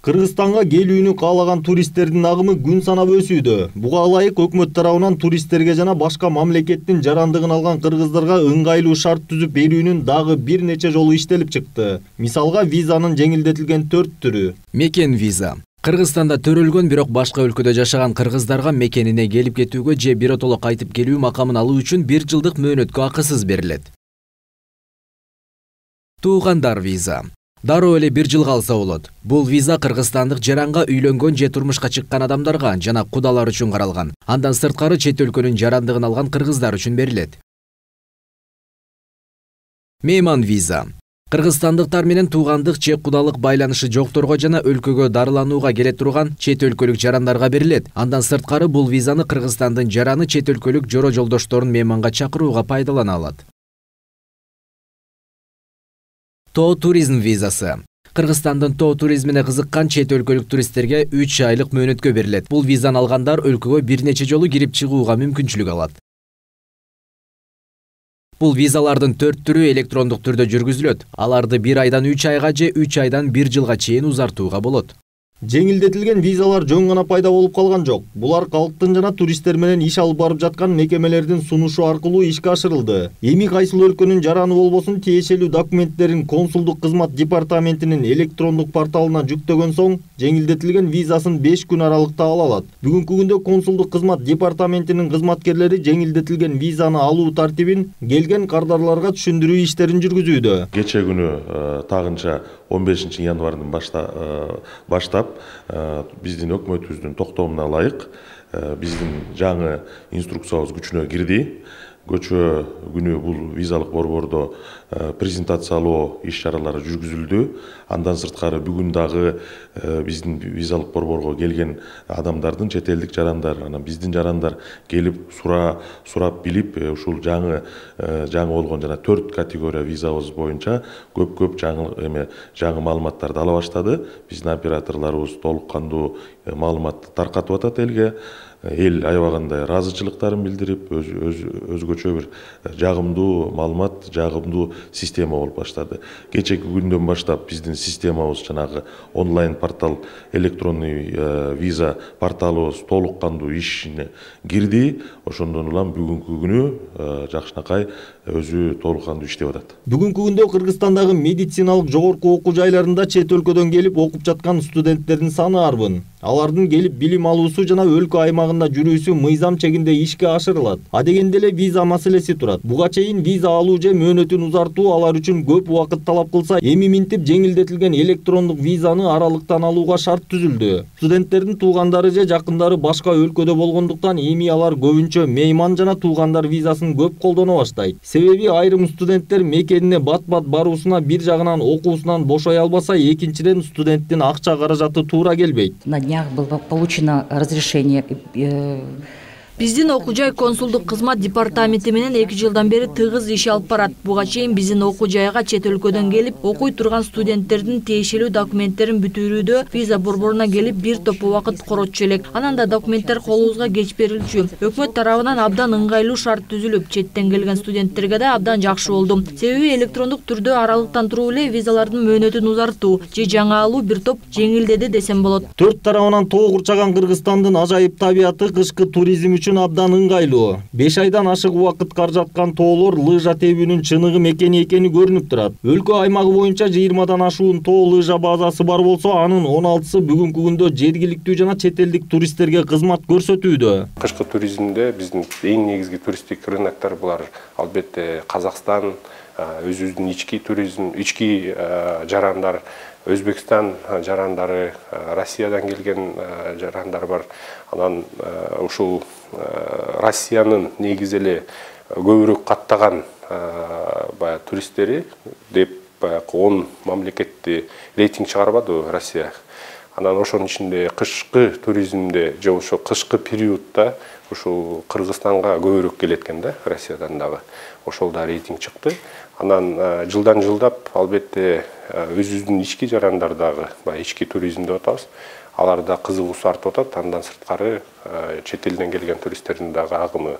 Кыргызстанга келүүнү каалаган туристтердин агымы күн санап өсүүдө. Буга ылайык өкмөт тарабынан туристтерге жана башка мамлекеттин жарандыгын алган кыргыздарга ыңгайлуу шарт түзүп берүүнүн дагы бир нече жолу иштелип чыкты. Мисалга визанын жеңилдетилген 4 түрү. Мекен виза. Кыргызстанда төрөлгөн, бирок башка өлкөдө жашаган кыргыздарга мекенине келип кетүүгө же биротоло кайтып келүү макамын алуу үчүн 1 жылдык мөөнөткө акысыз берилет. Туугандар виза. Дароо эле 1 жыл калса болот. Бул виза кыргызстандык жаранга үйлөнгөн же турмушка чыккан адамдарга жана кудалар үчүн каралган. Андан сырткары чет өлкөнүн жарандыгын алган кыргыздар үчүн берилет. Мейман виза. Кыргызстандыктар менен туугандык же кудалык байланышы жокторго жана өлкөгө дарыланууга келе турган чет өлкөлүк жарандарга берилет. Андан сырткары бул визаны Кыргызстандын жараны чет өлкөлүк жоро жолдошторун мейманга чакырууга пайдалана алат. Тоо туризм визасы. Кыргызстандын тоо туризмине кызыккан чет өлкөлүк туристтерге 3 айлык мөөнөткө берилет. Бул визаны алгандар өлкөгө бир нече жолу кирип чыгууга мүмкүнчүлүк алат. Бул визалардын 4 түрү электрондук түрдө жүргүзүлөт. Аларды 1 айдан 3 айга же 3 айдан 1 жылга чейин узартууга болот. Жеңилдетилген визалар жөн гана пайда болуп калган жок. Булар калктын жана туристтер менен иш алып барып жаткан мекемелердин сунушу аркылуу ишке ашырылды. Эми кайсыл өлкөнүн жараны болбосун тиешелүү документтерин консулдук кызмат департаментинин электрондук порталына жүктөгөн соң, жеңилдетилген визасын 5 күн аралыкта ала алат. Бүгүнкү күндө консулдук кызмат департаментинин кызматкерлери жеңилдетилген визаны алуу тартибин келген кардарларга түшүндүрүү иштерин жүргүзүүдө. Кече күнү тагынча 15 январдан баштап биздин өкмөтүбүздүн токтомуна ылайык биздин жаңы инструкциябыз күчүнө кирди. Көчө күнү бул визалык борбордо презентациялоо иш-чаралары жүргүзүлдү. Андан сырткары бүгүн дагы биздин визалык борборго келген адамдардын чет элдик жарандар, анан биздин жарандар келип сурап билип, ушул жаңы болгон жана 4 категория визабыз боюнча көп жаңы маалыматтарды ала баштады. Биздин операторлорубуз толук кандуу маалыматты таркатып атат элге. Эл аябагандай ыраазычылыктарын билдирип, өзгөчө бир жагымдуу маалымат, жагымдуу система болуп баштады. Кечеки күндөн баштап биздин системабыз жанагы онлайн портал, электронный виза порталыбыз толук кандуу ишине кирди. Ошондон улам бүгүнкү күнү жакшынакай өзү толук кандуу иштеп атат. Бүгүнкү күндө Кыргызстандагы медициналык жогорку окуу жайларында чет өлкөдөн келип окуп жаткан студенттердин саны арбын. Алардын келип билим алуусу жана өлкө аймагында жүрүүсү мыйзам чегинде ишке ашырылат. Адегенде эле виза маселеси турат. Буга чейин виза алуу же мөөнөтүн узартуу алар үчүн көп убакыт талап кылса, эми минтип жеңилдетилген электрондук визаны аралыктан алууга шарт түзүлдү. Студенттердин туугандары же жакындары башка өлкөдө болгондуктан эми алар көбүнчө мейман жана туугандар визасын көп колдоно баштайт. Себеби айрым студенттер мекенине бат-бат баруусуна бир жагынан окуусунан бошой албаса, экинчиден студенттин акча каражаты туура келбейт. На днях было получено разрешение. Биздин окуу жай консулдук кызмат департаменти менен 2 жылдан бери тыгыз иш алып барат. Буга чейин биздин окуу жайга чет өлкөдөн келип окуй турган студенттердин тиешелүү документтерин бүтүрүүдө виза борборуна келип бир топ убакыт коротчу элек. Анан да документтер колубузга кеч берилчү. Өкмөт тарабынан абдан ыңгайлуу шарт түзүлүп, четтен келген студенттерге да абдан жакшы болду. Себеби электрондук түрдө аралыктан туруп эле визалардын мөөнөтүн узартуу же жаңы алуу бир топ жеңилдеди десем болот. Төрт тарабынан тоо курчаган Кыргызстандын ажайып табияты кышкы туризм үчүн абдан ыңгайлуу. 5 айдан ашык убакыт каржаткан тоолор лыжа тебүүнүн чыныгы мекени экени көрүнүп турат. Өлкө аймагы боюнча 20дан ашуун тоо лыжа базасы бар болсо, анын 16сы бүгүнкү күндө жергиликтүү жана чет элдик туристтерге кызмат көрсөтүүдө. Кышкы туризмде биздин эң негизги туристтик рыноктор булар албетте Казакстан, өзүбүздүн ички туризм, ички жарандар, Өзбекстан жарандары, Россиядан келген жарандар бар. Анан ушул Россиянын негизи эле көбүрөөк каттаган туристтери деп 10 мамлекетти рейтинг чыгарбады Россия. Анан ошонун ичинде кышкы туризмде же ошо кышкы периодда ушул Кыргызстанга көбүрөөк келет экен да, Россиядан дагы. Ошол да рейтинг чыкты. Анан жылдан жылдап албетте өзүбүздүн ички жарандар дагы ички туризм деп атабыз. Аларда кызыгуусу артып атат. Андан сырткары чет элден келген туристтердин дагы агымы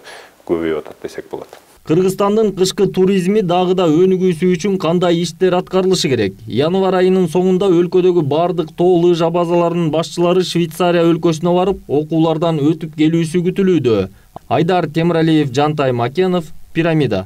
көбөйүп атат десек болот. Кыргызстандын кышкы туризми дагы да өнүгүүсү үчүн кандай иштер аткарылышы керек? Январь айынын соңунда өлкөдөгү бардык тоо лыжа базаларынын башчылары Швейцария өлкөсүнө барып, окуулардан өтүп келүүсү күтүлүүдө. Айдар Темиралиев, Жантай Макенов, Пирамида.